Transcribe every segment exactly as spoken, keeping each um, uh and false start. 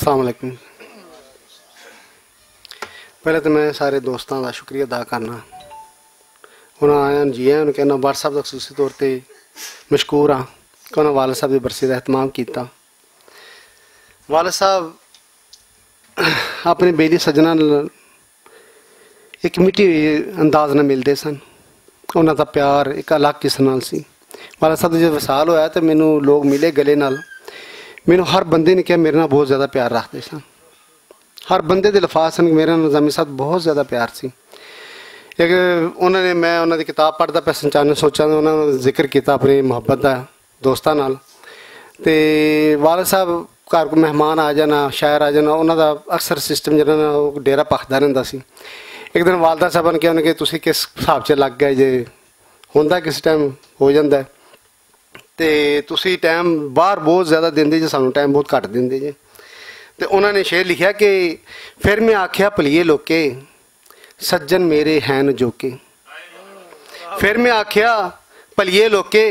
السلام علیکم۔ پہلے تو میں سارے دوستاں دا شکریہ ادا کرنا۔ انہاں آیاں نوں جی آیاں نوں کہنا، واٹس ایپ دا خصوصی طور تے مشکور ہاں کہ انہاں والد صاحب دی برسی دا اہتمام کیتا۔ والد صاحب اپنے بیلی سجنا نال ایک مٹی ہوئی انداز نال ملدے سن۔ انہاں دا پیار ایک الگ قسم نال سی۔ والد صاحب دا جب وصال ہویا تے مینوں لوگ ملے گلے نال، مینوں ہر بندے نے کہا میرے نال بہت زیادہ پیار رکھدے سن۔ ہر بندے دے لفاظ سن کہ میرے نال نظامی صاحب بہت زیادہ پیار سی۔ ایک انہاں نے، میں انہاں دی کتاب پڑھدا پیا سن، چاہنے سوچاں دے انہاں نے ذکر کیتا اپنی محبت دا دوستاں نال۔ تے والد صاحب گھر کو مہمان آ جانا، شاعر آ جانا، انہاں دا اکثر سسٹم جڑا نا، او ڈیرہ پکھدا رہندا سی۔ ایک دن والدہ صاحب نے کہا کہ تسی کس حساب چ لگ گئے جے، ہوندا کس ٹائم ہو جاندا ہے۔ تے تسی ٹائم باہر بہت زیادہ دیندے جے، سانوں ٹائم بہت گھٹ دیندے جے۔ تے انہاں نے شعر لکھیا کہ پھر میں آکھیا بھلیے لوکے، سجن میرے ہیں نجوکے۔ پھر میں آکھیا بھلیے لوکے،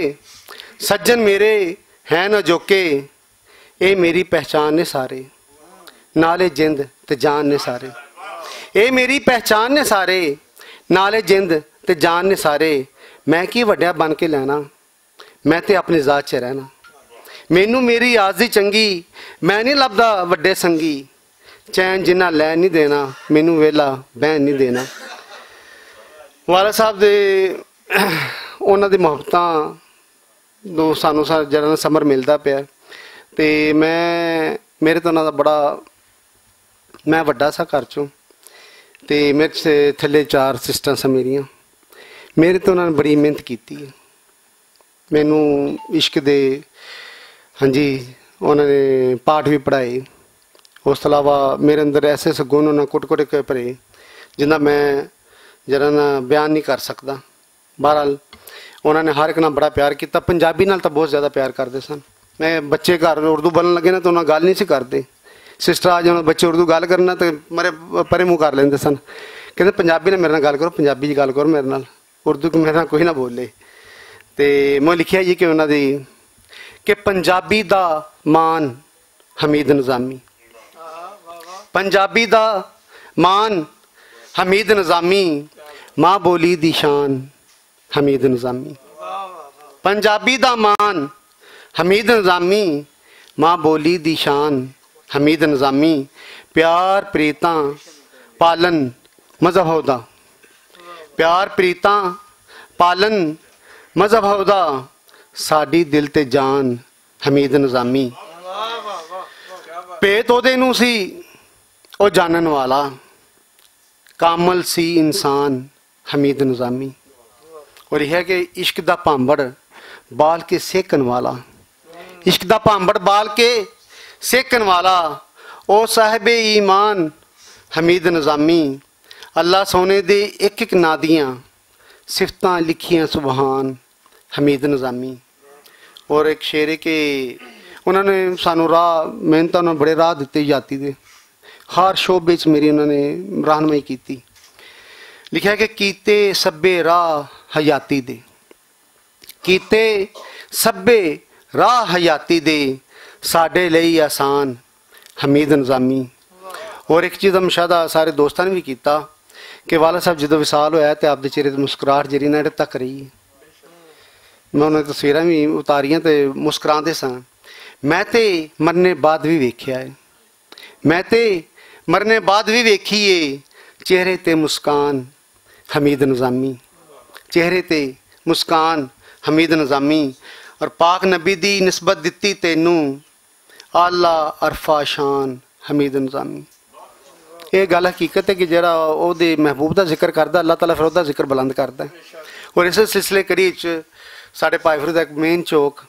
سجن میرے ہیں نجوکے، اے میری پہچان نے سارے، نالے جند تے جان نے سارے۔ اے میری پہچان نے سارے، نالے جند تے جان نے سارے۔ میں کی وڈیا بن کے لینا، میں تے اپنی ذات چ رہنا۔ مینوں میری آزی چنگی، میں نہیں لبدا وڈے سنگی۔ چین جنہ لین نہیں دینا، مینوں ویلا بہن نہیں دینا۔ والد صاحب دے، انہاں دی محبتاں دو سانوں سا جڑا نا سمر ملدا پیا۔ تے میں، میرے تو انہاں دا بڑا، میں وڈا سا گھر چوں، تے میرے سے تھلے چار سسٹر سن میریاں۔ میرے تو انہاں نے بڑی محنت کیتی ہے۔ مینوں عشق دے، ہاں جی، انہاں نے پاٹ وی پڑھائے۔ اس توں علاوہ میرے اندر ایسے ایسے گن انہاں کٹ کٹ کے پرے، جنہاں میں جرا نا بیان نہیں کر سکدا۔ بہرحال، انہاں نے ہر ایک نال بڑا پیار کیتا۔ پنجابی نال تاں بہت زیادہ پیار کردے سن۔ میں بچے گھر اردو بولن لگے نا، تو انہاں گل نہیں سی کردے۔ سسٹر آ جانا، بچے اردو گل کرنا تے مرے پرے منہ کر لیندے سن۔ کہندے، پنجابی نال میرے نال گل کرو، پنجابی چ گل کرو میرے نال، اردو کی میرے نال کوئی نہ بولے۔ تے میں لکھیا جی کہ انہاں دی، کہ پنجابی دا مان حمید نظامی، پنجابی دا مان حمید نظامی، ماں بولی دی شان حمید نظامی۔ پنجابی دا مان حمید نظامی، ماں بولی دی شان حمید نظامی۔ پیار پریتاں پالن مذہب ہودا، پیار پریتاں پالن مذہب ہودا، ساڈی دل تے جان حمید نظامی۔ پیت اودے نوں سی او جانن والا، کامل سی انسان حمید نظامی۔ اور یہ ہے کہ عشق دا پامبڑ بال کے سیکن والا، عشق دا پامبڑ بال کے سیکن والا، او صاحب ایمان حمید نظامی۔ اللہ سونے دے ایک ایک نادیاں صفتاں لکھیاں سبحان حمید نظامی۔ اور ایک شعر ہے کہ انہاں نے سانو راہ، محنتاں نال بڑے راہ دتے یاتی دے، ہر شعبے چ میری انہاں نے رہنمائی کیتی۔ لکھیا کہ کیتے سبے راہ حیاتی دے، کیتے سبے راہ حیاتی دے، ساڈے لئی آسان حمید نظامی۔ اور ایک چیز ہم شاید سارے دوستاں نے بھی کیتا کہ والد صاحب جدوں وصال ہویا تے آپ دے چہرے تے مسکراہٹ جڑی نا اڑے تک رہی۔ میں انہاں دی تصویراں بھی اتاریاں تے مسکراندے سن۔ میں تے مرنے بعد بھی ویکھیا ہے، میں تے مرنے بعد بھی ویکھی ہے، چہرے تے مسکان حمید نظامی، چہرے تے مسکان حمید نظامی۔ اور پاک نبی دی نسبت دتی تینوں، اعلیٰ عرفہ شان حمید نظامی۔ یہ گل حقیقت ہے کہ جڑا او دے محبوب دا ذکر کردا، اللہ تعالیٰ پھر او دا ذکر بلند کردا ہے۔ اور اس سلسلے کڑی وچ ساڈے بھائی فرید دا ایک مین چوک،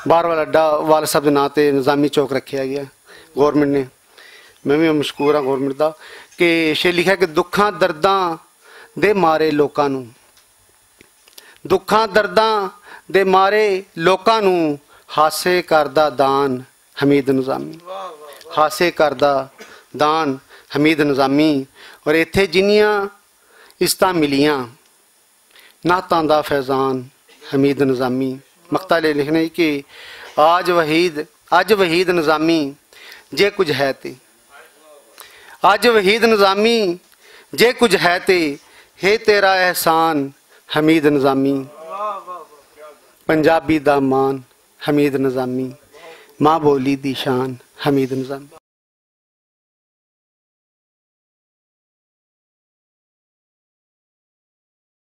باہر والا اڈا، والد صاحب دے ناں تے نظامی چوک رکھیا گیا گورنمنٹ نے۔ میں بھی مشکور ہاں گورنمنٹ دا کہ شے لکھیا کہ دکھاں درداں دے مارے لوکاں نوں، دکھاں درداں دے مارے لوکاں نوں ہاسے کردا دان حمید نظامی، ہاسے کردا دان حمید نظامی۔ اور ایتھے جنیاں عزتاں ملیاں، نعتاں دا فیضان حمید نظامی۔ مقطع لے لکھنے کہ آج وحید، اج وحید نظامی جے کچھ ہے تے، اج وحید نظامی، جے کچھ ہے تے ہے تیرا احسان، حمید نظامی۔ پنجابی دا مان، حمید نظامی۔ ماں بولی دی شان، حمید نظامی۔